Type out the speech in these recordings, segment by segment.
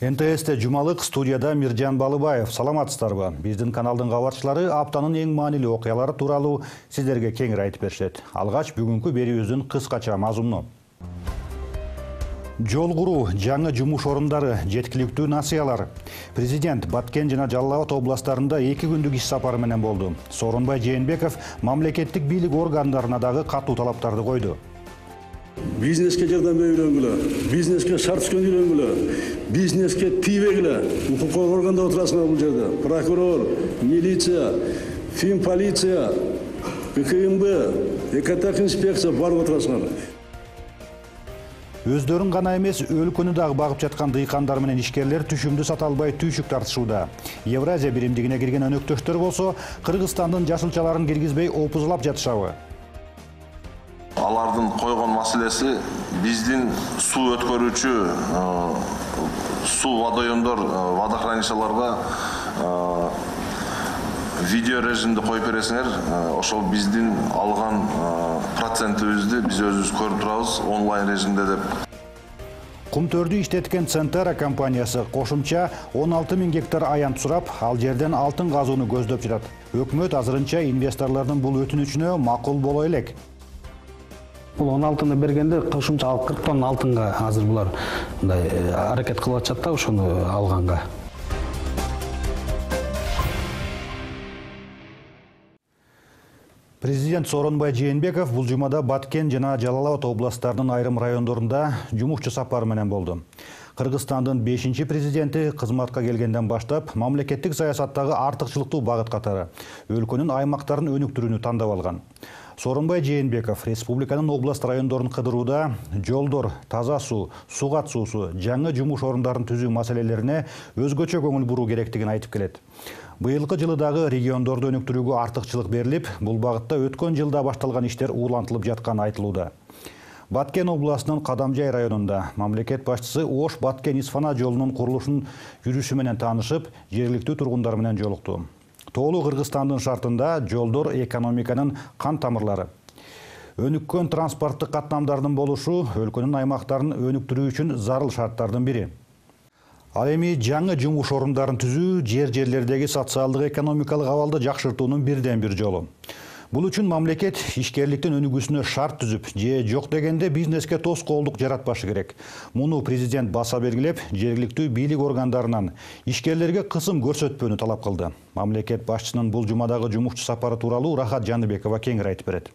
НТС'те жумалык, студияда Миржан Балыбаев. Саламатсыздарбы? Биздин каналдын кабарчылары аптанын эң маанилүү окуялары тууралуу сиздерге кеңири айтып беришет. Алгач бүгүнкү берүүбүздүн кыскача мазмуну. Жол куруу, жаңы жумуш орундары, жеткиликтүү насыялар. Президент Баткен жана Жалал Абад областарында 2 күндүк иш сапары менен болду. Сооронбай Жээнбеков мамлекеттик бийлик органдарына дагы катуу талаптарды койду. Бизнеске жардам берүүгүлө, бизнеске шарт түзгөндү үйрөнгүлө, бизнеске тийбегиле. Укук органда отурасыңар бул жерде. Прокурор, милиция, финполиция, ГКМБ, экотех инспекция барып отурасыңар. Өздөрүн гана эмес, өлкөнү дагы багып жаткан дыйкандар менен ишкерлер түшүмдү сата албай түйшүк тартышууда. Евразия биримдигине кирген өнөктөштөр болсо, Кыргызстандын жашылчаларын киргизбей опузулап жатышабы? Алардын койгон маселеси биздин суу өткөрүүчү суу водоемдор, водохранилищаларга видео режимде коюп бересиңер. Ошол биздин алган процентибизди биз өзүбүз көрүп турабыз онлайн режимде деп. Кумтөрдү иштеткен Центера компаниясы кошумча 16 000 гектар аянт сурап, ал жерден алтын казууну көздөп жатат. Өкмөт азырынча инвесторлордун бул өтүнүчүнө макул боло элек. Бул 16-ны бергенде кошумча 40 тонна алтынга азыр булар мындай аракет кылып атышат да ошону алганга. Президент Сооронбай Жээнбеков бул жумада Баткен жана Жалал Абад областарынын айрым райондорунда жумушчу сапары менен болду. Кыргызстандын 5-чи президенти кызматка келгенден баштап мамлекеттик саясаттагы артыкчылыктуу багыт катары өлкөнүн аймактарын өнүктүрүүнү тандап алган. Сооронбай Жээнбеков республиканын област райондорун кыдырууда жолдор, таза суу, суу катышуусу, жаңы жумуш орундарын түзүү маселелерине өзгөчө көңүл буруу керектигин айтып келет. Быйылкы жылы дагы региондорду өнүктүрүүгө артыкчылык берилип, бул багытта өткөн жылда башталган иштер улантылып жатканы айтылууда. Баткен областынын Кадамжай районунда мамлекет башчысы Ош-Баткен-Исфана жолунун курулушун жүрүшү менен таанышып, жергиликтүү тургундар менен жолукту. Тоолуу Кыргызстандын шартында жолдор экономиканын кан тамырлары. Өнүккөн транспорттук каттамдардын болушу өлкөнүн аймактарын өнүктүрүү үчүн зарыл шарттардын бири. Ал эми жаңы жумуш орундарын түзүү жерлердеги социалдык экономикалык абалды жакшыртуунун бирден бир жолу. Бул үчүн мамлекет ишкерликтин өнүгүүсүнө шарт түзүп, же жок дегенде бизнеске тоскоолдук жаратпашы керек. Муну президент баса белгилеп, жергиликтүү бийлик органдарынан ишкерлерге кысым көрсөтпөөнү талап кылды. Мамлекет башчысынын бул жумадагы жумушчу сапары тууралуу Рахат Жаныбекова кеңири айтып берет.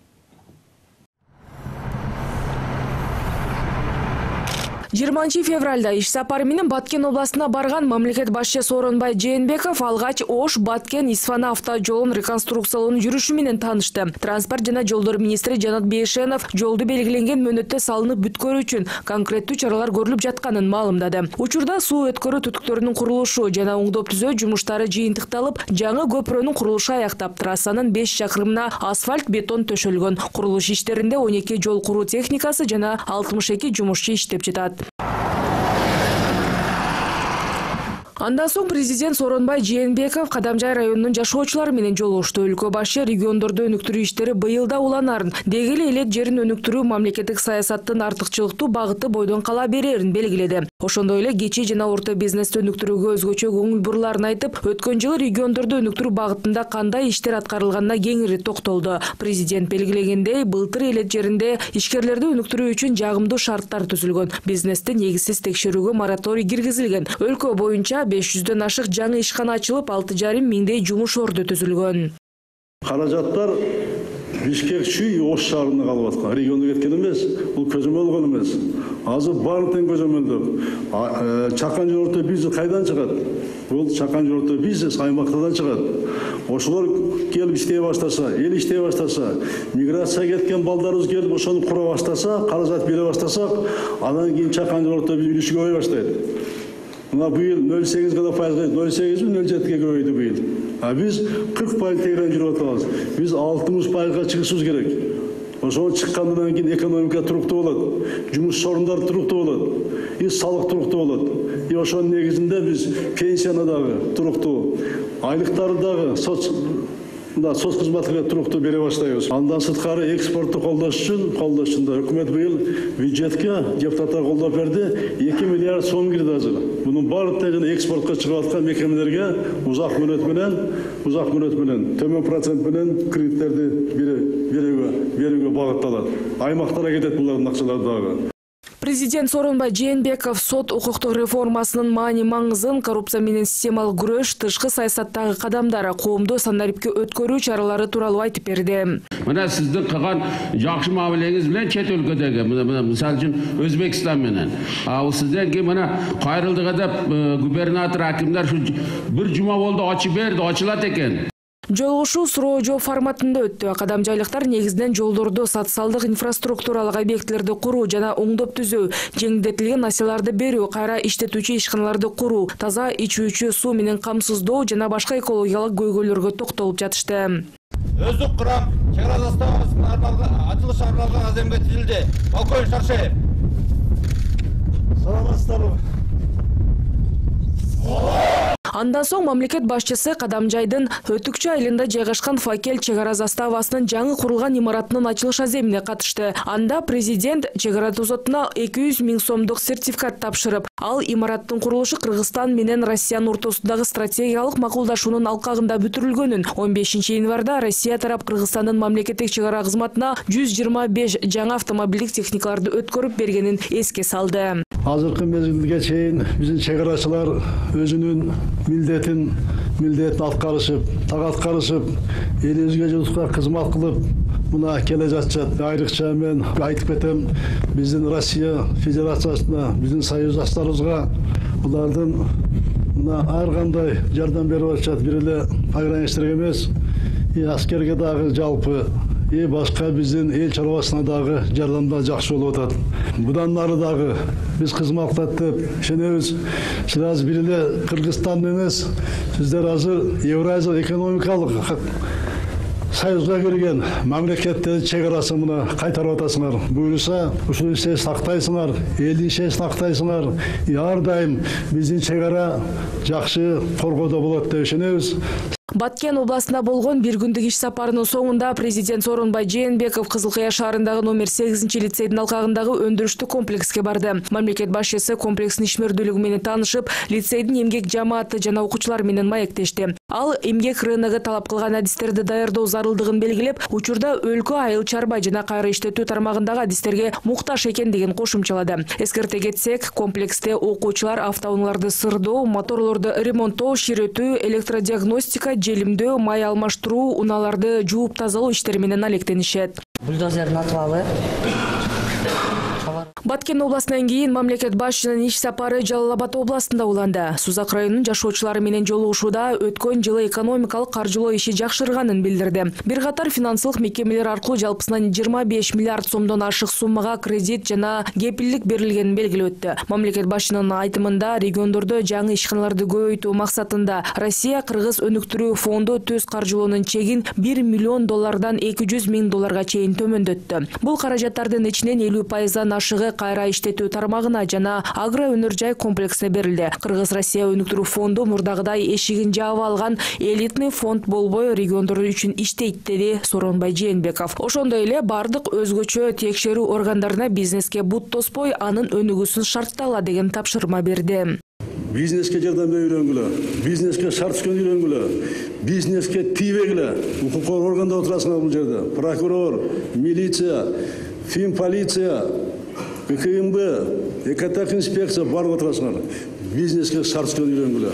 20 февралда иш сапары менен Баткен областына барган мамлекет башчы Сооронбай Жээнбеков алгач Ош-Баткен-Исфана автожолун реконструкциялоонун жүрүшү менен таанышты. Транспорт жана жолдор министри Жанат Бейшенов жолду белгиленген мөөнөттө салынып бүткөрүү үчүн конкреттүү чаралар көрүлүп жатканын маалымдады. Учурда суу өткөрүү түтүктөрүнүн курулушу жана оңдоп түзөө жумуштары жыйынтыкталып, жаңы көпүрөнүн курулушу аяктап, трассанын 5 чакырымына асфальт бетон төшөлгөн. Курулуш иштеринде 12 жол куруу техникасы жана 62 жумушчу иштеп жатат. Андан соң президент Сооронбай Жээнбеков Кадамжай районунун жашоочулары менен жолугушту. Өлкө башы региондорду өнүктүрүү иштери быйылда уланарын, деги эле жерин өнүктүрүү мамлекеттик саясаттын артыкчылыктуу багыты бойдон кала берерин белгиледи. Ошондой эле кичи жана орто бизнести өнүктүрүүгө өзгөчө көңүл буруларын айтып, өткөн жылы региондорду өнүктүрүү багытында кандай иштер аткарылганына кеңири токтолду. Президент белгилегендей, былтыр элет жеринде ишкерлерди өнүктүрүү үчүн жагымдуу шарттар түзүлгөн. Бизнести негизсиз текшерүүгө мораторий киргизилген. Өлкө боюнча 500дөн ашык жаңы ишкана ачылып, 6,5 миңдей жумуш орду түзүлгөн. Каражаттар Бишкек Чүй Ош шаарында калып аткан. Региондо кеткен эмес, бул көзөмөл эмес. Азыр баардыгын көзөмөлдөп, чакан жол орто бизнес кайдан чыгат? Бул чакан жол орто бизнес аймактардан чыгат. Ошолор келип иштей баштаса, эл иштей баштаса, миграция кеткен балдарыбыз келип ошону кура баштаса, каражат бере баштасак, андан кийин чакан жол орто үлүшү көбөйө баштайт. Мына быйыл 0,8 гана пайызга, 0,8 0,7 көбөйдү быйыл. А биз 40% тегерен жүрүп атабыз. Биз 60% чыгышыбыз керек. Ошол чыккандан кийин экономика туруктуу болот, жумуш орундары туруктуу болот, салык туруктуу болот. Ошонун негизинде биз пенсияны дагы туруктуу, айлыктарды дагы мына соц кызматына туруктуу бере баштайбыз. Андан сырткары экспортту колдош үчүн да өкмөт быйыл бюджетке депутаттар колдоп берди. 2 миллиард сом кирди азыр. Мунун баардыгы экспортко чыгып аткан мекемелерге узак мөөнөт менен төмөн процент менен кредиттерди берүүгө багытталат. Аймактарга кетет булардын акчалары дагы. Президент Сооронбай Жээнбеков сот укуктук реформасынын маани маңызын, коррупция менен системалык күрөш, тышкы саясаттагы кадамдар, коомду санариптке өткөрүү чаралары тууралуу айтып берди. Мына сиздин кылган жакшы мамилеңиз менен чет өлкөдөгү, мисалы үчүн Өзбекстан менен, сизден кийин мына кайрылдыга деп губернатор, акимдер бир жума болду ачып берди, ачылат экен. Жолугушуу суроо жооп форматында өттү. Кадамжайлыктар негизинен жолдорду, социалдык инфраструктуралык объектилерди куруу жана оңдоп түзөө, жеңилдетилген несиелерди берүү, кайра иштетүүчү ишканаларды куруу, таза ичүүчү суу менен камсыздоо жана башка экологиялык көйгөйлөргө токтолуп жатышты. Өздүк курам чек ара заставасынын ачылышы арналган аземге тизилди. Полковник Шаршеев. Саламатсыздарбы? Андан соң мамлекет башчысы Кадамжайдын Өтүкчү айылында жайгашкан Факел чек ара заставасынын жаңы курулган имаратынын ачылыш аземине катышты. Анда президент чек ара тузотуна 200 000 сомдук сертификат тапшырып, ал имараттын курулушу Кыргызстан менен Россиянын ортосундагы стратегиялык макулдашуунун алкагында бүтүрүлгөнүн, 15 январда Россия тарап Кыргызстандын мамлекеттик чек ара кызматына 125 жаңы автомобилдик техникаларды өткөрүп бергенин эске салды. Азыркы мезгилге чейин биздин чек арачылар өзүнүн милдетин аткарышып, элибизге журтка кызмат кылып мына келе жатышат. Айрыкча мен айтып кетем, биздин Россия Федерациясына, биздин союздаштарыбызга булардын мына ар кандай жардам берип атышат. Бир эле пограничтерге эмес, аскерге дагы жалпы башка биздин эл чарбасына дагы жардамдар жакшы болуп атат. Будан нары дагы биз кызмат кылат деп ишенебиз. Сиз азыр бир эле Кыргызстан эмес, сиздер азыр Евразия экономикалык союзга кирген мамлекеттердин чек арасын мына кайтарып атасыңар. Буюрса, ушул ишти сактайсыңар, элдин ишин сактайсыңар. Ар дайым биздин чек ара жакшы коргоодо болот деп ишенебиз. Баткен областында болгон бир күндүк иш сапарынын соңунда президент Сооронбай Жээнбеков Кызылкыя шаарындагы номер 8-лицейдин алкагындагы өндүрүштүк комплекске барды. Мамлекет башчысы комплекстин ишмердүүлүгү менен таанышып, лицейдин эмгек жамааты жана окуучулар менен маектешти. Ал эмгек рыногу талап кылган адистерди даярдоо зарылдыгын белгилеп, учурда өлкө айыл чарба жана кайра иштетүү тармагындагы адистерге муктаж экендигин кошумчалады. Эскерте кетсек, комплексте окуучулар автоунааларды сырдоо, моторлорду ремонттоо, ширетүү, электродиагностика, желимдөө, май алмаштыруу, унааларды жууп тазалоо иштери менен алектенишет. Бульдозердин атыбалы. Баткен областынан кийин мамлекет башчынын иш сапары Жалал Абад областында уланды. Сузак районунун жашоочулары менен жолугушууда өткөн жылы экономикалык каржылоо иши жакшырганын билдирди. Бир катар финансылык мекемелер аркылуу жалпысынан 25 миллиард сомдон ашык суммага кредит жана кепилдик берилгенин белгилеп өттү. Мамлекет башчынын айтымында региондордо жаңы ишканаларды көбөйтүү максатында Россия Кыргыз өнүктүрүү фонду төз каржылоонун чегин $1 миллион 200 000 долларга чейин төмөндөттү. Бул каражаттардын ичинен 50%-дан ашыгы кайра иштетүү тармагына жана агро өнөр жай комплексине берилди. Кыргыз-Россия өнүктүрүү фонду мурдагыдай эшигин жаап алган элитный фонд болбой региондор үчүн иштейт, деди Сооронбай Жээнбеков. Ошондой эле бардык өзгөчө текшерүү органдарына бизнеске бут тоспой, анын өнүгүүсүн шарттала деген тапшырма берди. Бизнеске жардам берүүгө үйрөнгүлө, бизнеске шарт түзгөнгө үйрөнгүлө, бизнеске тийбегиле. Укук органда отурасыңар бул жерде. Прокурор, милиция, финполиция, КМБ, экотех инспекция барлыгы отурасыңар. Бизнеске шарт түзгөнгө үйрөнгүлө.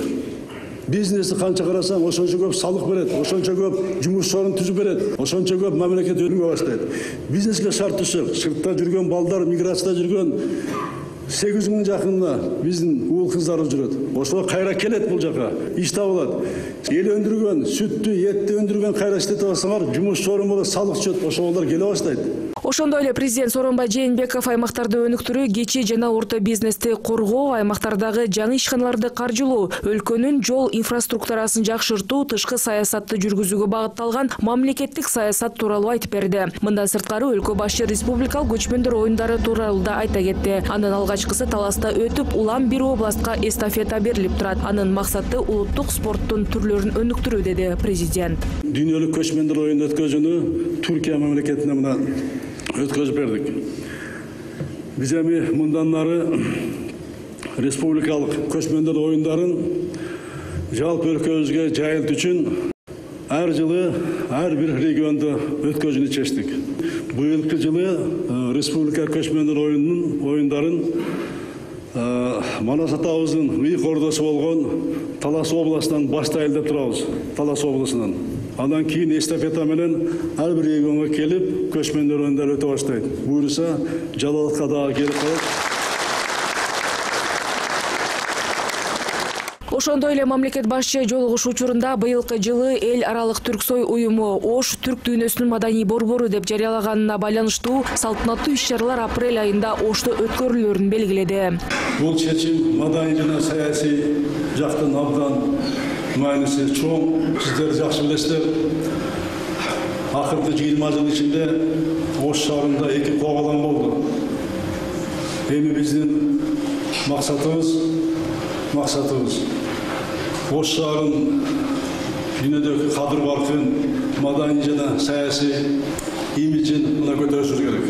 Бизнести канча карасаң, ошончо көп салык берет, ошончо көп жумуш орун түзүп берет, ошончо көп мамлекет өнүгө баштайт. Бизнеске шарт түзсөк, сыртта жүргөн балдар, миграцияда жүргөн 800 жакында биздин уул кыздарыбыз жүрөт. Ошолор кайра келет бул жака, иш табылат. Эл өндүргөн, сүттү, этти өндүргөн кайра иштете алсаңар, жумуш орун болот, салык түшөт, ошолор келе баштайт. Ошондой эле президент Сооронбай Жээнбеков аймактарды өнүктүрүү, кичи жана орто бизнести коргоо, аймактардагы жаңы ишканаларды каржылоо, өлкөнүн жол инфраструктурасын жакшыртуу, тышкы саясатты жүргүзүүгө багытталган мамлекеттик саясат тууралуу айтып берди. Мындан сырткары өлкө башчы республикалык көчмөндөр оюндары тууралуу да айта кетти. Анын алгачкысы Таласта өтүп, улам бир областка эстафета берилип турат. Анын максаты улуттук спорттун түрлөрүн өнүктүрүү, деди президент. Дүйнөлүк көчмөндөр оюнун өткөзүүнү Түркия мамлекетине мына өткөзүп бердик. Биз эми мындан нары республикалык көчмөндөр оюндарын жалпы өлкөбүзгө жайылтуу үчүн ар жылы ар бир региондо өткөзүүнү чечтик. Быйылкы жылы республика көчмөндөр оюндарын Манас атабыздын ыйык ордосу болгон Талас областынан баштайлы деп турабыз. Талас облусунан. Андан кийин эстафета менен ар бир регионго келип, көчмөндөр оюндары өтө баштайт. Буюрса, Жалалатка дагы келип калат. Ошондой эле мамлекет башчы жолугушуу учурунда быйылкы жылы эл аралык Түрксой уюму Ош түрк дүйнөсүнүн маданий борбору деп жарыялаганына байланыштуу салтанаттуу иш-чаралар апрель айында Ошто өткөрүлөрүн белгиледи. Бул чечим маданий жана саясий жактан абдан мааниси чоң. Сиздер жакшы билесиздер. Акыркы 20 жыл ичинде Ош шаарында 2 коогалам болду. Эми биздин максатыбыз Ош шаарын дүйнөдөгү кадыр-баркын, маданий жана саясий имиджин мына көтөрүшүбүз керек.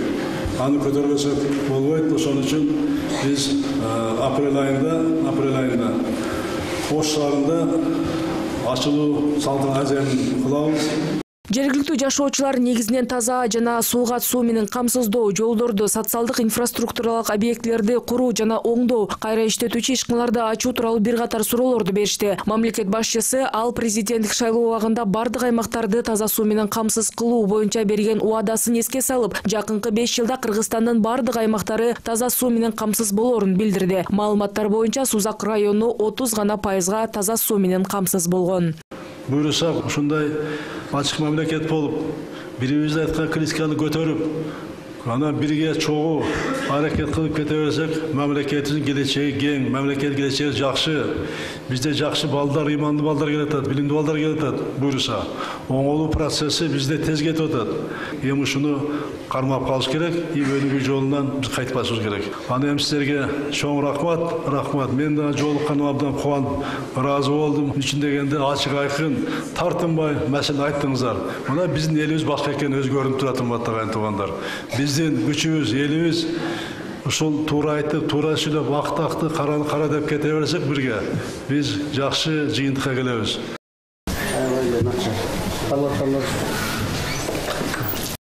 Аны көтөрбөсөк болбойт. Ошон үчүн биз апрель айында Ош шаарында ачылуу салтанатын кылабыз. Жергиликтүү жашоочулар негизинен таза жана сууга суу менен камсыздоо, жолдорду, социалдык инфраструктуралык объектилерди куруу жана оңдоо, кайра иштетүүчү ишканаларды ачуу тууралуу бир катар суроолорду беришти. Мамлекет башчысы ал президенттик шайлоо убагында бардык аймактарды таза суу менен камсыз кылуу боюнча берген убадасын эске салып, жакынкы 5 жылда Кыргызстандын бардык аймактары таза суу менен камсыз болоорун билдирди. Маалыматтар боюнча Сузак району 30 гана пайызга таза суу менен камсыз болгон. Буюрса, ушундай ачык мамлекет болуп, бирибиз айткан критиканы көтөрүп, ана бирге чогуу аракет кылып кете берсек, мамлекетибиздин келечеги кең, мамлекет келечеги жакшы. Бизде жакшы балдар, ыймандуу балдар келатат, билимдүү балдар келатат. Буюрса, оңолуу процесси бизде тез кетип атат. Эми ушуну кармап калыш керек, өнүгүү жолунан биз кайтпашыбыз керек. Аны эми сиздерге чоң рахмат. Мен да жолукканыма абдан кубанып, ыраазы болдум. Үчүн дегенде ачык айкын, тартынбай маселе айттыңыздар. Мына биздин элибиз башка экени өзгөрүнүп турат, урматтуу туугандар. Биздин күчүбүз, элибиз ушул туура айтып, туура сүйлөп, акты кара деп кете берсек бирге, биз жакшы жыйынтыкка келебиз.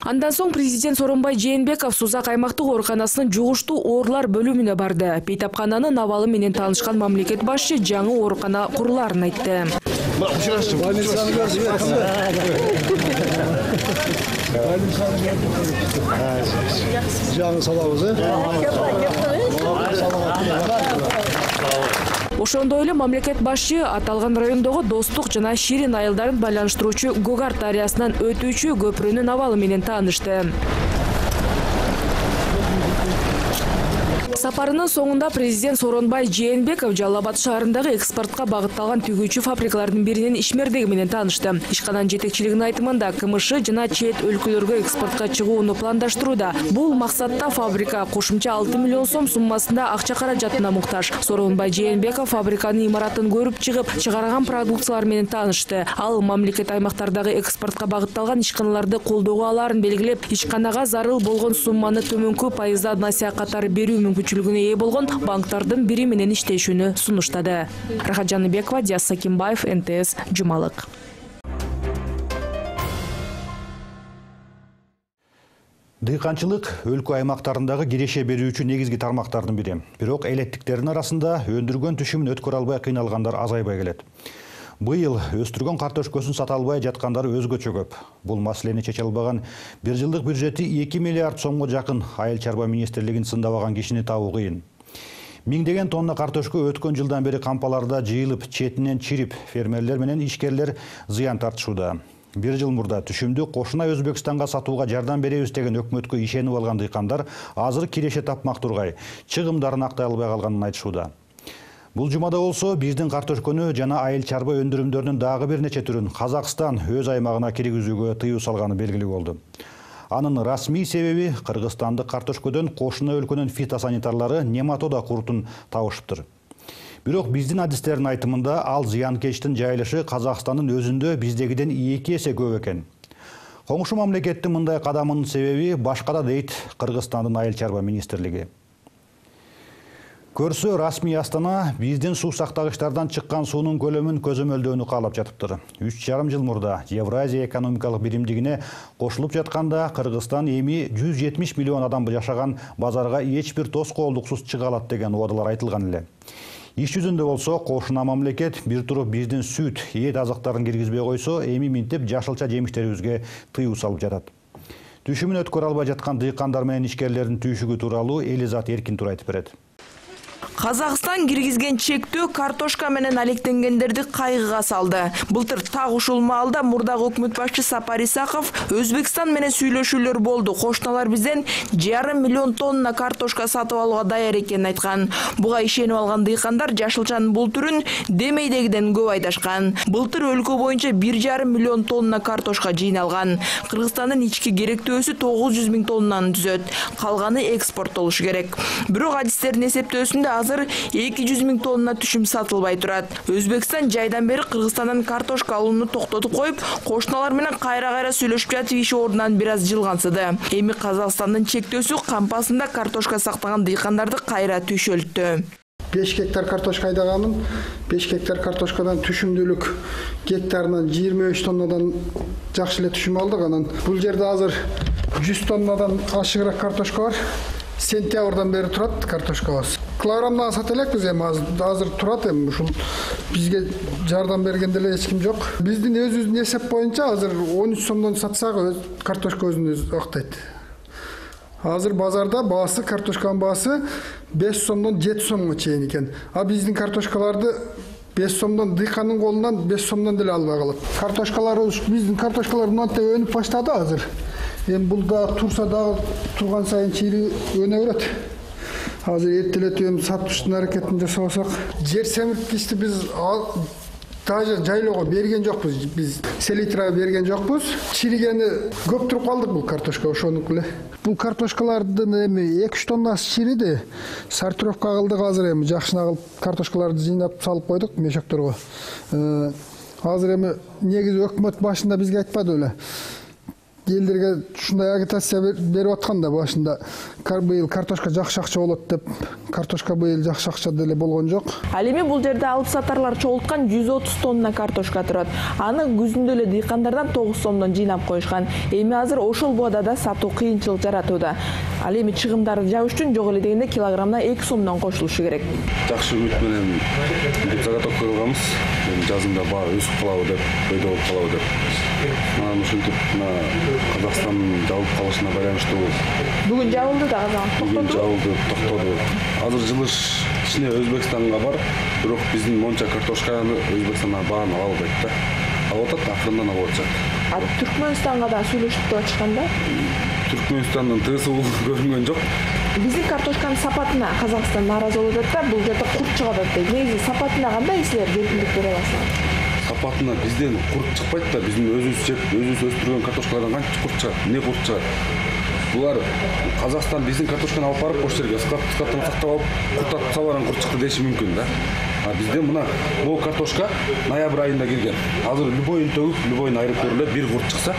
Андан соң президент Сооронбай Жээнбеков Сузак аймактык ооруканасынын жугуштуу оорлар бөлүмүнө барды. Бейтапкананын абалы менен таанышкан мамлекет башчы жаңы оорукана курулаарын айтты. Ошондой эле мамлекет башчы аталган райондогу Достук жана Ширин айылдарын байланыштыруучу Гогарт дарыясынан өтүүчү көпүрөнүн абалы менен таанышты. Сапарынын соңунда президент Сооронбай Жээнбеков Жалал Абад шаарындагы экспортко багытталган түйгүүчү фабрикалардын биринин ишмердиги менен таанышты. Ишкананын жетекчилигинин айтымында КМШ жана чет өлкөлөргө экспортко чыгууну пландаштырууда. Бул максатта фабрика кошумча 6 миллион сом суммасында акча каражатына муктаж. Сооронбай Жээнбеков фабриканын имаратын көрүп чыгып, чыгарган продукциялар менен таанышты. Ал мамлекет аймактардагы экспортко багытталган ишканаларды колдоого алаарын белгилеп, ишканага зарыл болгон сумманы төмөнкү пайызда насыя катары берүү мүмкүнчүлүгүнө ээ болгон банктардын бири менен иштешүүнү сунуштады. Рахат Жаныбекова, Диас Сакимбаев, НТС, Жумалык. Дыйканчылык өлкө аймактарындагы киреше берүүчү негизги тармактардын бири. Бирок элеттиктердин арасында өндүргөн түшүмүн өткөрө албай кыйналгандар азайбай келет. Быйыл өстүргөн картошкөсүн сата албай жаткандар өзгөчө көп. Бул маселени чече албаган 1 жылдык бюджети 2 миллиард сомго жакын Айыл чарба министрлигин сындабаган кишини табуу кыйын. Миңдеген тонна картошка өткөн жылдан бери кампаларда жыйылып, четинен чирип, фермерлер менен ишкерлер зыян тартышууда. Бир жыл мурда түшүмдү кошуна Өзбекстанга сатууга жардам беребиз деген өкмөткө ишенип алган дыйкандар азыр киреше тапмак тургай чыгымдарын актай албай калганын айтышууда. Бул жумада болсо биздин картошкөнү жана айыл чарба өндүрүмдөрүнүн дагы бир нече түрүн Казакстан өз аймагына киргизүүгө тыюу салганы белгилүү болду. Анын расмий себеби кыргызстандык картошкөдөн кошуна өлкөнүн фитосанитарлары нематода курутун табышыптыр. Бирок биздин адистердин айтымында ал зыянкечтин жайылышы Казакстандын өзүндө биздегиден 2 эсе көп экен. Коңшу мамлекеттин мындай кадамынын себеби башкада дейт Кыргызстандын айыл чарба министрлиги. Көрсө расмий Астана биздин суу сактагычтардан чыккан суунун көлөмүн көзөмөлдөөнү каалап жатыптыр. 3,5 жыл мурда Евразия экономикалык биримдигине кошулуп жатканда Кыргызстан эми 170 миллион адам жашаган базарга эч бир тоскоолдуксуз чыга алат деген убадалар айтылган эле. Иш жүзүндө болсо кошуна мамлекет бир туруп биздин сүт, эт азыктарын киргизбей койсо, эми минтип жашылча жемиштерибизге тыюу салып жатат. Түшүмүн өткөрө албай жаткан дыйкандар менен ишкерлердин түйшүгү тууралуу Элизат Эркин айтып берет. Казакстан киргизген чектөө картошка менен алектенгендерди кайгыга салды. Былтыр так ушул маалда мурдагы өкмөт башчы Сапар Исаков Өзбекстан менен сүйлөшүүлөр болду. Кошуналар бизден 1,5 миллион тонна картошка сатып алууга даяр экенин айткан. Буга ишенип алган дыйкандар жашылчанын бул түрүн демейдегиден көп айдашкан. Былтыр өлкө боюнча 1,5 миллион тонна картошка жыйналган. Кыргызстандын ички керектөөсү 900 миң тоннаны түзөт. Калганы экспорттолушу керек. Бирок адистердин эсептөөсүндө азыр 200 миң тонна түшүм сатылбай турат. Өзбекстан жайдан бери Кыргызстандан картошка алууну токтотуп коюп, кошуналар менен кайра сүйлөшүп жатып иши ордунан бир аз жылгансыды. Эми Казакстандын чектөөсү кампасында картошка сактаган дыйкандарды кайра түйшөлттү. 5 гектар картошка айдаганмын. 5 гектар картошкадан түшүмдүүлүк гектарынан 23 тоннадан жакшы эле түшүм алдык. Анан бул жерде азыр 100 тоннадан ашыгыраак картошка бар. Сентябрдан бери турат картошкабыз. Килограммдан сата элекпиз, эми азыр турат, эми ушул бизге жардам бергенде эле эч ким жок. Биздин өзүбүздүн эсеп боюнча азыр 13 сомдон сатсак картошка өзүн актайт. Азыр базарда баасы, картошканын баасы 5 сомдон 7 сомго чейин экен. А биздин картошкаларды 5 сомдон дыйкандын колунан 5 сомдон деле албай калат. Картошкалар биздин картошкалар мынтип өнүп баштады азыр. Эми бул да турса дагы турган сайын чири өнө берет. Азыр эртелетип сатыштын аракетин жасабасак, жер семирткичти биз даже жайлоого берген жокпуз. Биз селитрага берген жокпуз. Чиригени көп туруп калдык бул картошка ошонук эле. Бул картошкалардын эми 2-3 тоннасы чириди. Сортировка кылдык азыр, эми жакшына кылып картошкаларды жыйнап салып койдук мешокторго. Азыр эми негизи өкмөт башында бизге айтпады эле. Элдерге ушундай агитация берип аткан да башында. Быйыл картошка жакшы акча болот деп, картошка быйыл жакшы акча деле болгон жок. Ал эми бул жерде алып сатарлар чогулткан 130 тонна картошка турат. Аны күзүндө эле дыйкандардан 9 сомдон жыйнап коюшкан. Эми азыр ошол боодада сатуу кыйынчылык жаратууда. Ал эми чыгымдарды жабыш үчүн жок эле дегенде килограммына 2 сомдон кошулушу керек. Жакшы үмүт менен заготовка кылганбыз. Жазында баары өсүп калабы деп, бойдо болуп калабы деп. Анан ушинтип Казакстандын жабылып калышына байланыштуу. Бүгүн жабылды да токтоду. Бүгүн жабылды, токтоду. Азыр жылыш ичине Өзбекстанга бар, бирок биздин монча картошканы Өзбекстандан баарын ала албайт да. Алып атат, акырындан алып атышат. Түркмөнстанга да сүйлөшүп деп атышканда? Түркмөнстандын тыгысы көрүнгөн жок. Биздин картошканын сапатына Казакстан нааразы болуп атат да, бул жерде курт чыгып атат дейт. Негизи сапатына кандай силер эркиндик бере аласыңар? Сапатына бизден курт чыкпайт да, биздин өзүбүз өстүргөн картошкалардан канча курт чыгат, эмне курт чыгат? Булар Казакстан биздин картошканы алып барып ошол жерге складтан сактап алып, курт атып салган курт чыкты деши мүмкүн да. А бизде мына бул картошка ноябрь айында келген. Азыр любойун төгүп, любойун айырып көрүлөт, бир курт чыкса.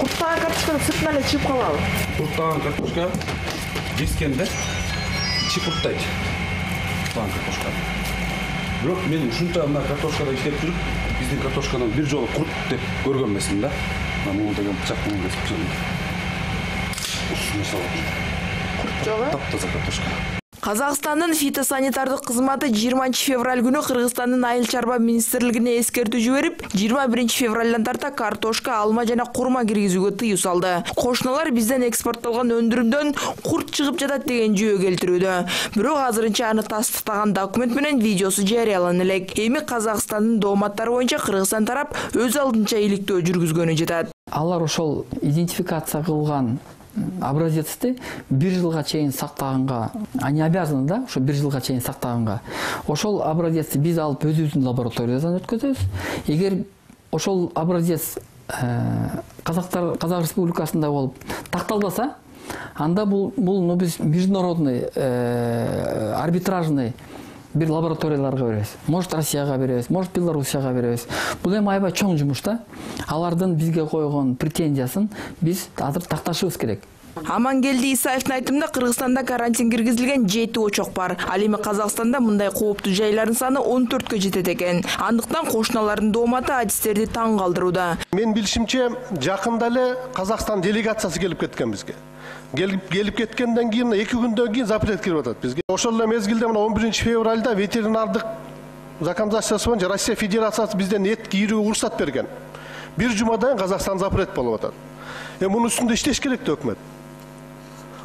Курттаган картошканы сыртынан эле чыгып калабы? Курттаган картошка бискенде чипурттайт. Курттаган картошка. Бирок мен ушунча мына картошкада иштеп жүрүп, биздин картошканы бир жолу курт деп көргөн эмесмин да. Мына деген бычак менен кесип жүрөм. Ушуну салат. Курт жок, таптаза картошка. Казакстандын фитосанитардык кызматы 20 февраль күнү Кыргызстандын айыл чарба министрлигине эскертүү жиберип, 21 февралдан тарта картошка, алма жана курма киргизүүгө тыюу салды. Кошуналар бизден экспорттолгон өндүрүмдөн курт чыгып жатат деген жүйө келтирүүдө. Бирок азырынча аны тастыктаган документ менен видеосу жарыялана элек. Эми Казакстандын дооматтары боюнча Кыргызстан тарап өз алдынча иликтөө жүргүзгөнү жатат. Алар ошол идентификация кылган образецти 1 жылга чейин сактаганга, они обязаны, да, ошо 1 жылга чейин сактаганга. Ошол образецти биз алып өзүбүздүн лабораториядан өткөзөбүз. Эгер ошол образец Казак Республикасында болуп такталбаса, анда бул биз международный арбитражный бир лабораторияларга беребиз. Может Россияга беребиз, может Белоруссияга беребиз. Бул эми аябай чоң жумуш да. Алардын бизге койгон претензиясын биз азыр такташыбыз керек. Амангелди Исаевдин айтымында Кыргызстанда карантин киргизилген 7 очок бар. Ал эми Казакстанда мындай кооптуу жайлардын саны 14кө жетет экен. Андыктан кошуналардын дооматы адистерди таң калтырууда. Мен билишимче, жакында эле Казакстан делегациясы келип кеткен бизге. Келип кеткенден кийин 2 күндөн кийин запрет кирип атат бизге. Ошол эле мезгилде 11 февралда ветеринардык законодательствосы боюнча Россия Федерациясы бизден эт кийүүгө уруксат берген. Бир жумадан Казакстан запрет болуп атат. Мунун үстүндө иштеш керек да өкмөт.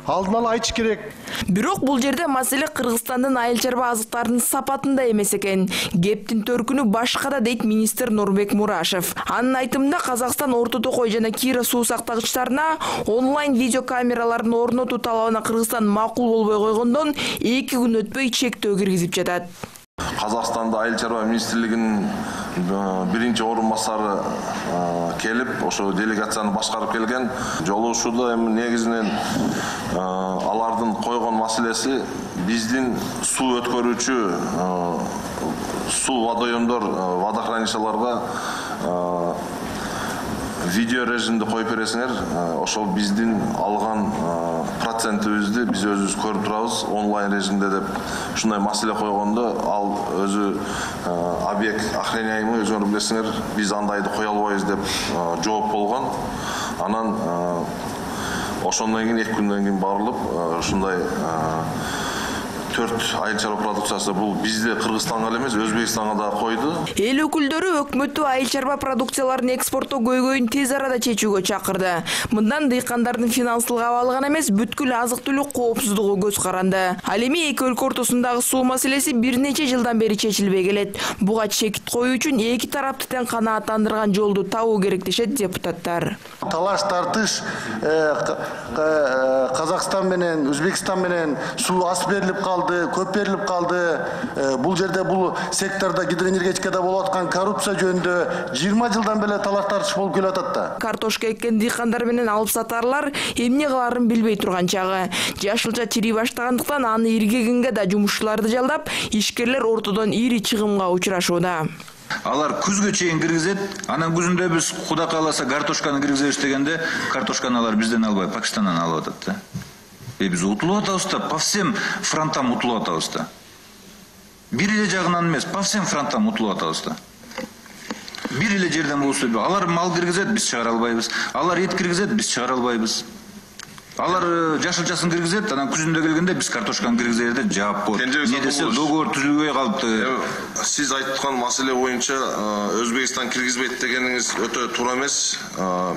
Алдын ала айтыш керек. Бирок бул жерде маселе Кыргызстандын айыл чарба азыктарынын сапатында эмес экен. Кептин төркүнү башкада дейт министр Нурбек Мурашев. Анын айтымында Казакстан Орто Токой жана Кира суу сактагычтарына онлайн видео камераларын орнотуу талабына Кыргызстан макул болбой койгондон 2 күн өтпөй чектөө киргизип жатат. Казакстанда айыл чарба министрлигинин биринчи орун басары келип, ошо делегацияны башкарып келген. Жолугушууда эми негизинен алардын койгон маселеси биздин суу өткөрүүчү суу водоемдор, водохранилищаларга видео режимде коюп бересиңер, ошол биздин алган процентибизди биз өзүбүз көрүп турабыз онлайн режимде деп ушундай маселе койгондо, ал өзү объект охраняемый, өзүңөр билесиңер, биз андайды кое албайбыз деп жооп болгон. Анан ошондон кийин 2 күндөн кийин барылып, ушундай 4 айыл чарба продукциясы бул бизде Кыргызстанга эле эмес, Өзбекстанга да койду. Эл өкүлдөрү өкмөттү айыл чарба продукцияларын экспорттоо көйгөйүн тез арада чечүүгө чакырды. Мындан дыйкандардын финансылык абалы гана эмес, бүткүл азык-түлүк коопсуздугу көз каранды. Ал эми эки өлкө ортосундагы суу маселеси бир нече жылдан бери чечилбей келет. Буга чекит коюу үчүн эки тарапты тең канааттандырган жолду табуу керек дешет депутаттар. Талаш тартыш Казакстан менен Өзбекстан менен суу аз берилип калды, көп берилип калды. Бул жерде бул секторда гидроэнергетикада болуп аткан коррупция жөнүндө 20 жылдан бери талаш тартыш болуп келатат да. Картошка эккен дыйкандар менен алып сатарлар эмне кыларын билбей турган чагы. Жашылча чирий баштагандыктан аны иргегенге да жумушчуларды жалдап, ишкерлер ортодон ири чыгымга учурашууда. Алар күзгө чейин киргизет, анан күзүндө биз Кудай кааласа картошканы киргизебиз дегенде, картошканы алар бизден албай Пакистандан алып атат да. Биз утулуп атабыз да, по всем фронтам утулуп атабыз да. Бир эле жагынан эмес, по всем фронтам утулуп атабыз да. Бир эле жерден болсо, алар мал киргизет, биз чыгара албайбыз. Алар эт киргизет, биз чыгара албайбыз. Алар жашылчасын киргизет, анан күзүндө келгенде биз картошканы киргизерде жаап болот. Не десе договор түзүлбөй калыптыр. Сиз айткан маселе боюнча Өзбекстан киргизбейт дегениңиз өтө туура эмес.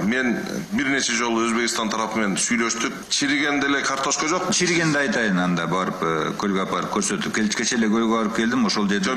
Мен бир нече жолу Өзбекстан тарапы менен сүйлөштүк. Чиригенде эле картошка жок. Чиригенде айтайын, анда барып көлгө апарып көрсөтүп, кече эле көлгө барып келдим, ошол жерде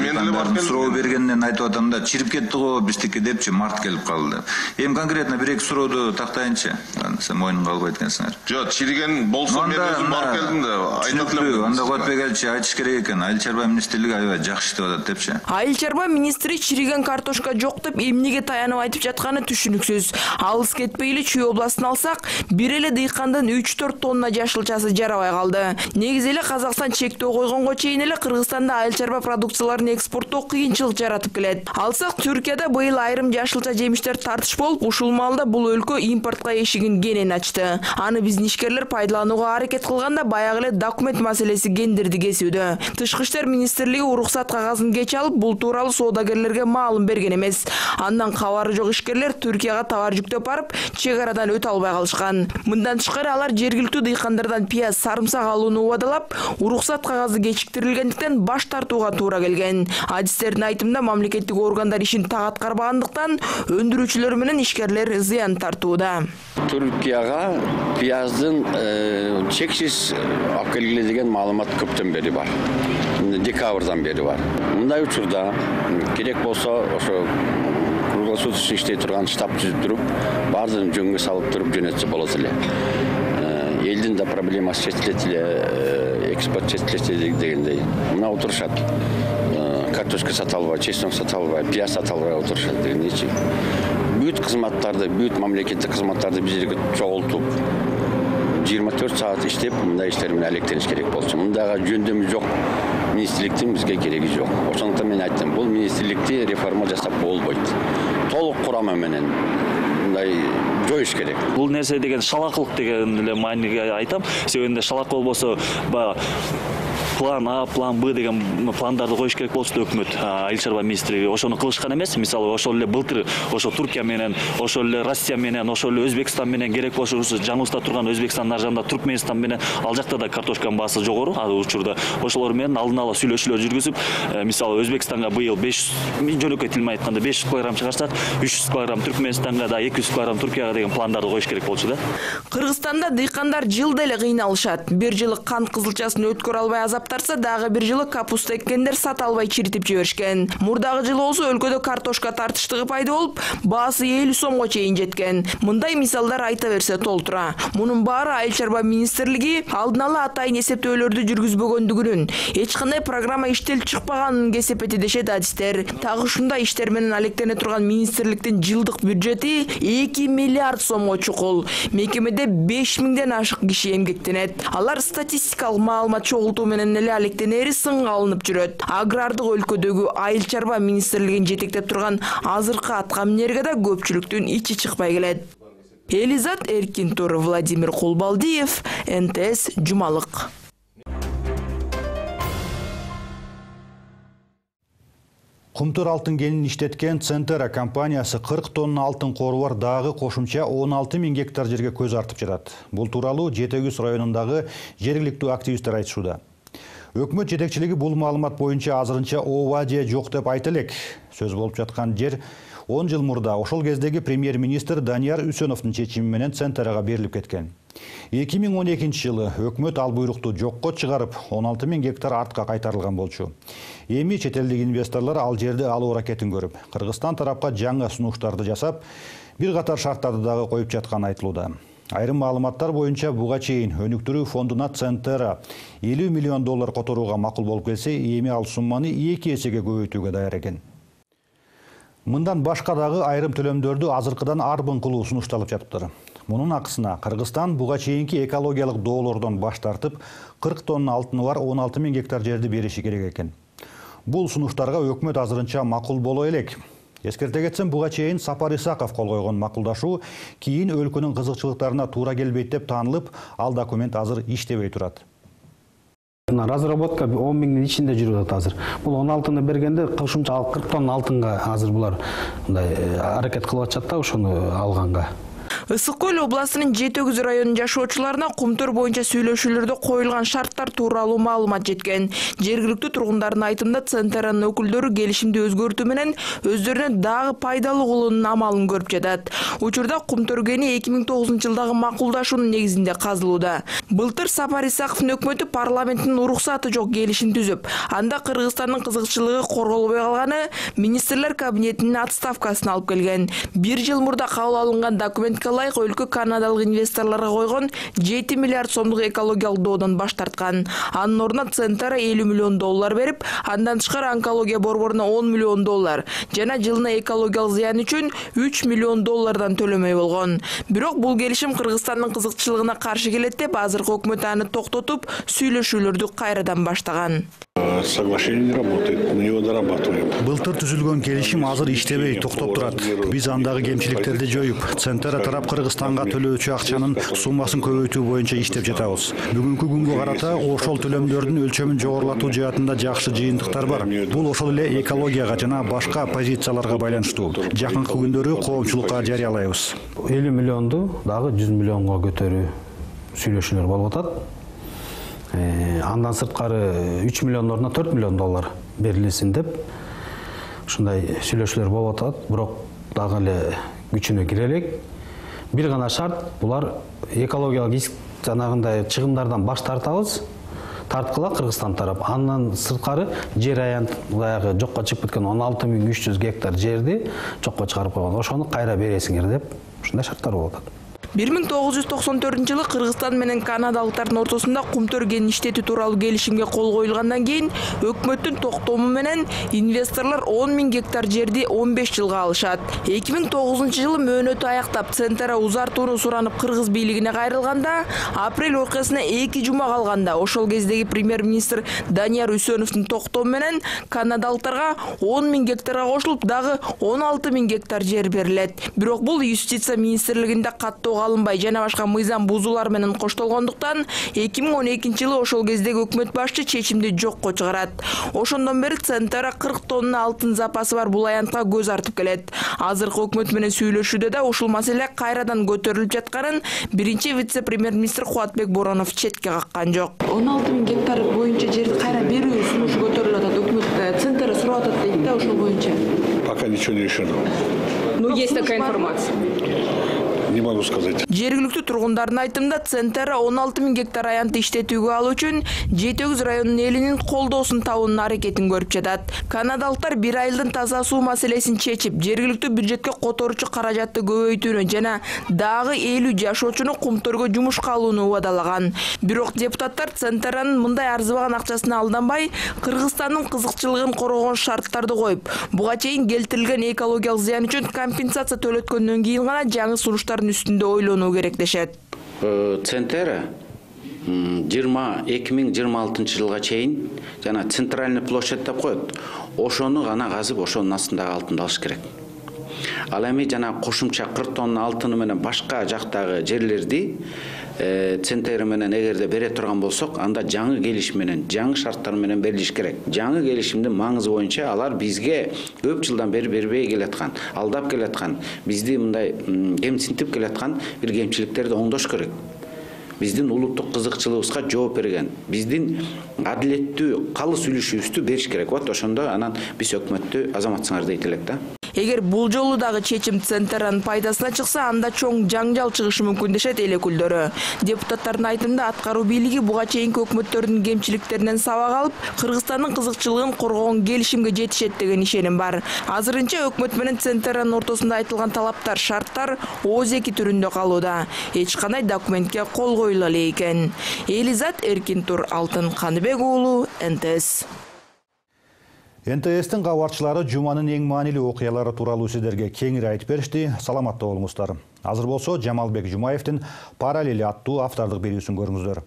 суроо бергенден айтып атам да, чирип кетти го биздики депчи, март келип калды. Эми конкретно бир-эки суроодо тактайынчы. Сен мойнуңга албайт экенсиңер. Чириген болсо мен өзүм барып келдим да, айтат элем. Анда Куатбек элчи айтыш керек экен. Айыл чарба министрлиги аябай жакшы иштеп атат депчи. Айыл чарба министри чириген картошка жок деп эмнеге таянып айтып жатканы түшүнүксүз. Алыс кетпей эле Чүй областын алсак, бир эле дыйкандын 3-4 тонна жашылчасы жарабай калды. Негизи эле Казакстан чектөө койгонго чейин эле Кыргызстанда айыл чарба продукцияларын экспорттоо кыйынчылык жаратып келет. Алсак Түркияда быйыл айрым жашылча жемиштер тартыш болуп, ушул маалда бул өлкө импортко эшигин кенен ачты. Аны биздин ишкерлер пайдаланууга аракет кылганда баягы эле документ маселеси кендирди кесүүдө. Тышкы иштер министрлиги уруксат кагазын кеч алып, бул тууралуу соодагерлерге маалым берген эмес. Андан кабары жок ишкерлер Түркияга товар жүктөп барып, чек арадан өтө албай калышкан. Мындан тышкары алар жергиликтүү дыйкандардан пияз, сарымсак алууну убадалап, уруксат кагазы кечиктирилгендиктен баш тартууга туура келген. Адистердин айтымында мамлекеттик органдар ишин так аткарбагандыктан өндүрүүчүлөр менен ишкерлер зыян тартууда. Түркияга пияздын чексиз алып келгиле деген маалымат көптөн бери бар. Декабрдан бери бар. Мындай учурда керек болсо ошо круглосуточный иштей турган штаб түзүп туруп, баардыгын жөнгө салып туруп жөнөтсө болот эле. Элдин да проблемасы чечилет эле, экспорт чечилет дегендей. Мына отурушат. Картошка сата албай, чеснок сата албай, пияз сата албай отурушат дегендейчи. Бүт кызматтарды, бүт мамлекеттик кызматтарды биз жерге чогултуп 24 саат иштеп, мындай иштер менен алектениш керек болчу. Мындайга жөндөмү жок министрликтин бизге кереги жок. Ошондуктан мен айттым, бул министрликти реформа жасап болбойт. Толук курамы менен мындай жоюш керек. Бул нерсе деген шалакылык деген эле мааниге айтам. Себебинде шалак болбосо план А, план Б деген пландарды коюш керек болчу өкмөт, айыл чарба министрлиги ошону кылышкан эмес. Мисалы ошол эле былтыр ошо Туркия менен, ошол эле Россия менен, ошол эле Өзбекстан менен керек болсо жаныбызда турган Өзбекстандын аржагында Туркменистан менен ал жакта да картошканын баасы жогору ал учурда. Ошолор менен алдын ала сүйлөшүүлөр жүргүзүп, мисалы Өзбекстанга быйыл 500 жөнөкөй тил менен айтканда 500 килограмм чыгарсак, 300 килограмм Түркменистанга да 200 килограмм Туркияга деген пландарды коюш керек болчу да. Кыргызстанда дыйкандар жылда эле кыйналышат. Бир жылы кант кызылчасын өткөрө албай азаптарса, дагы бир жылы капуста эккендер сата албай чиритип жиберишкен. Мурдагы жылы болсо өлкөдө картошка тартыштыгы пайда болуп, баасы 50 сомго чейин жеткен. Мындай мисалдар айта берсе толтура. Мунун баары айыл чарба министрлиги алдын ала атайын эсептөөлөрдү жүргүзбөгөндүгүнүн, эч кандай программа иштелип чыкпаганын кесип дешет адистер. Тагы ушундай иштер менен алектене турган министрликтин жылдык бюджети 2 миллиард сомго чукул. Мекемеде 5000ден ашык киши эмгектенет. Алар статистикалык маалымат чогултуу менен эле алектенери сынга алынып жүрөт. Агрардык өлкөдөгү айыл чарба министрлигин жетектеп турган азыркы аткаминерге да көпчүлүктүн ичи чыкпай келет. Элизат Эркинтур, Владимир Кулбалдиев, НТС Жумалык. Кумтур алтын кенин иштеткен Центера компаниясы 40 тонна алтын кору бар дагы кошумча 16 000 гектар жерге көз артып жатат. Бул тууралуу Жетегүз районундагы жергиликтүү активисттер айтышууда. Өкмөт жетекчилиги бул маалымат боюнча азырынча ооба же жок деп айта элек. Сөз болуп жаткан жер 10 жыл мурда ошол кездеги премьер-министр Данияр Үсөновдун чечими менен Центерага берилип кеткен. 2012 жылы өкмөт ал буйрукту жокко чыгарып, 16 000 гектар артка кайтарылган болчу. Эми чет элдик инвесторлор ал жерди алуу аракетин көрүп, Кыргызстан тарапка жаңы сунуштарды жасап, бир катар шарттарды дагы коюп жатканы айтылууда. Айрым маалыматтар боюнча буга чейин өнүктүрүү фондуна Центера $50 миллион которууга макул болуп келсе, эми ал сумманы 2 эсеге көбөйтүүгө даяр экен. Мындан башка дагы айрым төлөмдөрдү азыркыдан арбын кылуу сунушталып жатыптыр. Мунун акысына Кыргызстан буга чейинки экологиялык доолордон баш тартып, 40 тонна алтыны бар 16 000 гектар жерди бериши керек экен. Бул сунуштарга өкмөт азырынча макул боло элек. Эскерте кетсем, буга чейин Сапар Исаков кол койгон макулдашуу кийин өлкөнүн кызыкчылыктарына туура келбейт деп таанылып, ал документ азыр иштебей турат. Разработка 10 000 ичинде жүрүп атат азыр. Бул 16-ны бергенде кошумча 40 тонна алтынга азыр булар аракет кылып атышат да ошону алганга. Ысык көл областынын Жетегүз районунун жашоочуларына Кумтур боюнча сүйлөшүүлөрдө коюлган шарттар тууралуу маалымат жеткен. Жергиликтүү тургундардын айтымында Центеранын өкүлдөрү келишимди өзгөртүү менен өздөрүнө дагы пайдалуу кылуунун амалын көрүп жатат. Учурда Кумтур кени 2009 жылдагы макулдашуунун негизинде казылууда. Былтыр Сапар Исаковдун өкмөтү парламенттин уруксаты жок келишим түзүп, анда Кыргызстандын кызыкчылыгы корголбой калганы министрлер кабинетинин отставкасына алып келген. Бир жыл мурда кабыл алынган документке ылайык өлкө канадалык инвесторлорго койгон 7 миллиард сомдук экологиялык доодон баш тарткан. Анын ордуна Центера $50 миллион берип, андан тышкары онкология борборуна $10 миллион жана жылына экологиялык зыян үчүн $3 миллион төлөмөй болгон. Бирок бул келишим Кыргызстандын кызыкчылыгына каршы келет деп азыркы өкмөт аны токтотуп, сүйлөшүүлөрдү кайрадан баштаган. Соглашение не работает, мы его дорабатываем. Былтыр түзүлгөн келишим азыр иштебей, токтоп турат. Биз андагы кемчиликтерди жоюп, Центера тарап тарап Кыргызстанга төлөөчү акчанын суммасын көбөйтүү боюнча иштеп жатабыз. Бүгүнкү күнгө карата ошол төлөмдөрдүн өлчөмүн жогорулатуу жаатында жакшы жыйынтыктар бар. Бул ошол эле экологияга жана башка позицияларга байланыштуу. Жакынкы күндөрү коомчулукка жарыялайбыз. 50 миллионду дагы 100 миллионго көтөрүү сүйлөшүүлөр болуп атат. Андан сырткары 3 миллион ордуна 4 миллион доллар берилсин деп ушундай сүйлөшүүлөр болуп атат. Бирок дагы эле күчүнө кире элек. Бир гана шарт, булар экологиялык риск жанагындай чыгымдардан баш тартабыз. Тарткыла Кыргызстан тарап. Андан сырткары жер аянт баягы жокко чыгып кеткен 16.300 гектар жерди жокко чыгарып койгон. Ошону кайра бересиңер деп ушундай шарттар болуп атат. 1994-жылы Кыргызстан менен канадалыктардын ортосунда кумтөр кен иштетүү тууралуу келишимге кол коюлгандан кийин өкмөттүн токтому менен инвесторлор 10.000 гектар жерди 15 жылга алышат. 2009-жылы мөөнөтү аяктап Центера узартууну суранып Кыргыз бийлигине кайрылганда, апрель окуясына 2 жума калганда ошол кездеги премьер-министр Данияр Үсөновдун токтому менен канадалыктарга 10.000 гектарга кошулуп дагы 16.000 гектар жер берилет. Бирок бул юстиция министрлигинде каттоо алынбай жана башка мыйзам бузуулар менен коштолгондуктан 2012-жылы ошол кездеги өкмөт башчы чечимди жокко чыгарат. Ошондон бери Центера 40 тонна алтын запасы бар бул аянтка көз артып келет. Азыркы өкмөт менен сүйлөшүүдө да ушул маселе кайрадан көтөрүлүп жатканын биринчи вице-премьер-министр Кубатбек Боронов четке каккан жок. 16.000 гектар боюнча жерди кайра берүү сунушу көтөрүлүп атат. Өкмөт Центера сурап атат дейт да ошол боюнча. Пока ничего не решено. Ну, есть такая информация. Не могу сказать. Жергиликтүү тургундардын айтымында Центера 16.000 гектар аянтты иштетүүгө алуу үчүн Жетөгүз районунун элинин колдоосун табуунун аракетин көрүп жатат. Канадалыктар бир айылдын таза суу маселесин чечип, жергиликтүү бюджетке которуучу каражатты көбөйтүүнү жана дагы 50 жашоочуну кумтөргө жумушка алууну убадалаган. Бирок депутаттар Центеранын мындай арзыбаган акчасына алданбай, Кыргызстандын кызыкчылыгын коргогон шарттарды коюп, буга чейин келтирилген экологиялык зыян үчүн компенсация төлөткөндөн кийин гана жаңы сунуштар үстүндө ойлонуу керек дешет. Центера 2026 жылга чейин жана центральный площадь деп коет. Ошону гана казып, ошонун астындагы алтынды алыш керек. Ал эми жана кошумча 40 тонна алтыны менен башка жактагы жерлерди Центера менен эгерде бере турган болсок, анда жаңы келишим менен, жаңы шарттар менен берилиш керек. Жаңы келишимдин маңызы боюнча алар бизге көп жылдан бери бербей келаткан, алдап келаткан, бизди мындай кемсинтип келаткан бир кемчиликтерди оңдош керек. Биздин улуттук кызыкчылыгыбызга жооп берген, биздин адилеттүү калыс үлүшүбүздү бериш керек. Вот ошондо анан биз өкмөттү азаматсыңар дейт элек да. Эгер бул жолу дагы чечим Центеранын пайдасына чыкса, анда чоң жаңжал чыгышы мүмкүн дешет эл өкүлдөрү. Депутаттардын айтымында аткаруу бийлиги буга чейинки өкмөттөрдүн кемчиликтеринен сабак алып, Кыргызстандын кызыкчылыгын коргогон келишимге жетишет деген ишеним бар. Азырынча өкмөт менен Центеранын ортосунда айтылган талаптар, шарттар ооз-эки түрүндө калууда. Эч кандай документке кол коюла эле экен. Элизат Эркинтур, Алтын Каныбек уулу, НТС. НТС'тин кабарчылары жуманын эң маанилүү окуялары тууралуу сиздерге кеңири айтып беришти. Саламатта болуңуздар. Азыр болсо Жамалбек Жумаевдин «Параллели» аттуу автордук берүүсүн көрүңүздөр.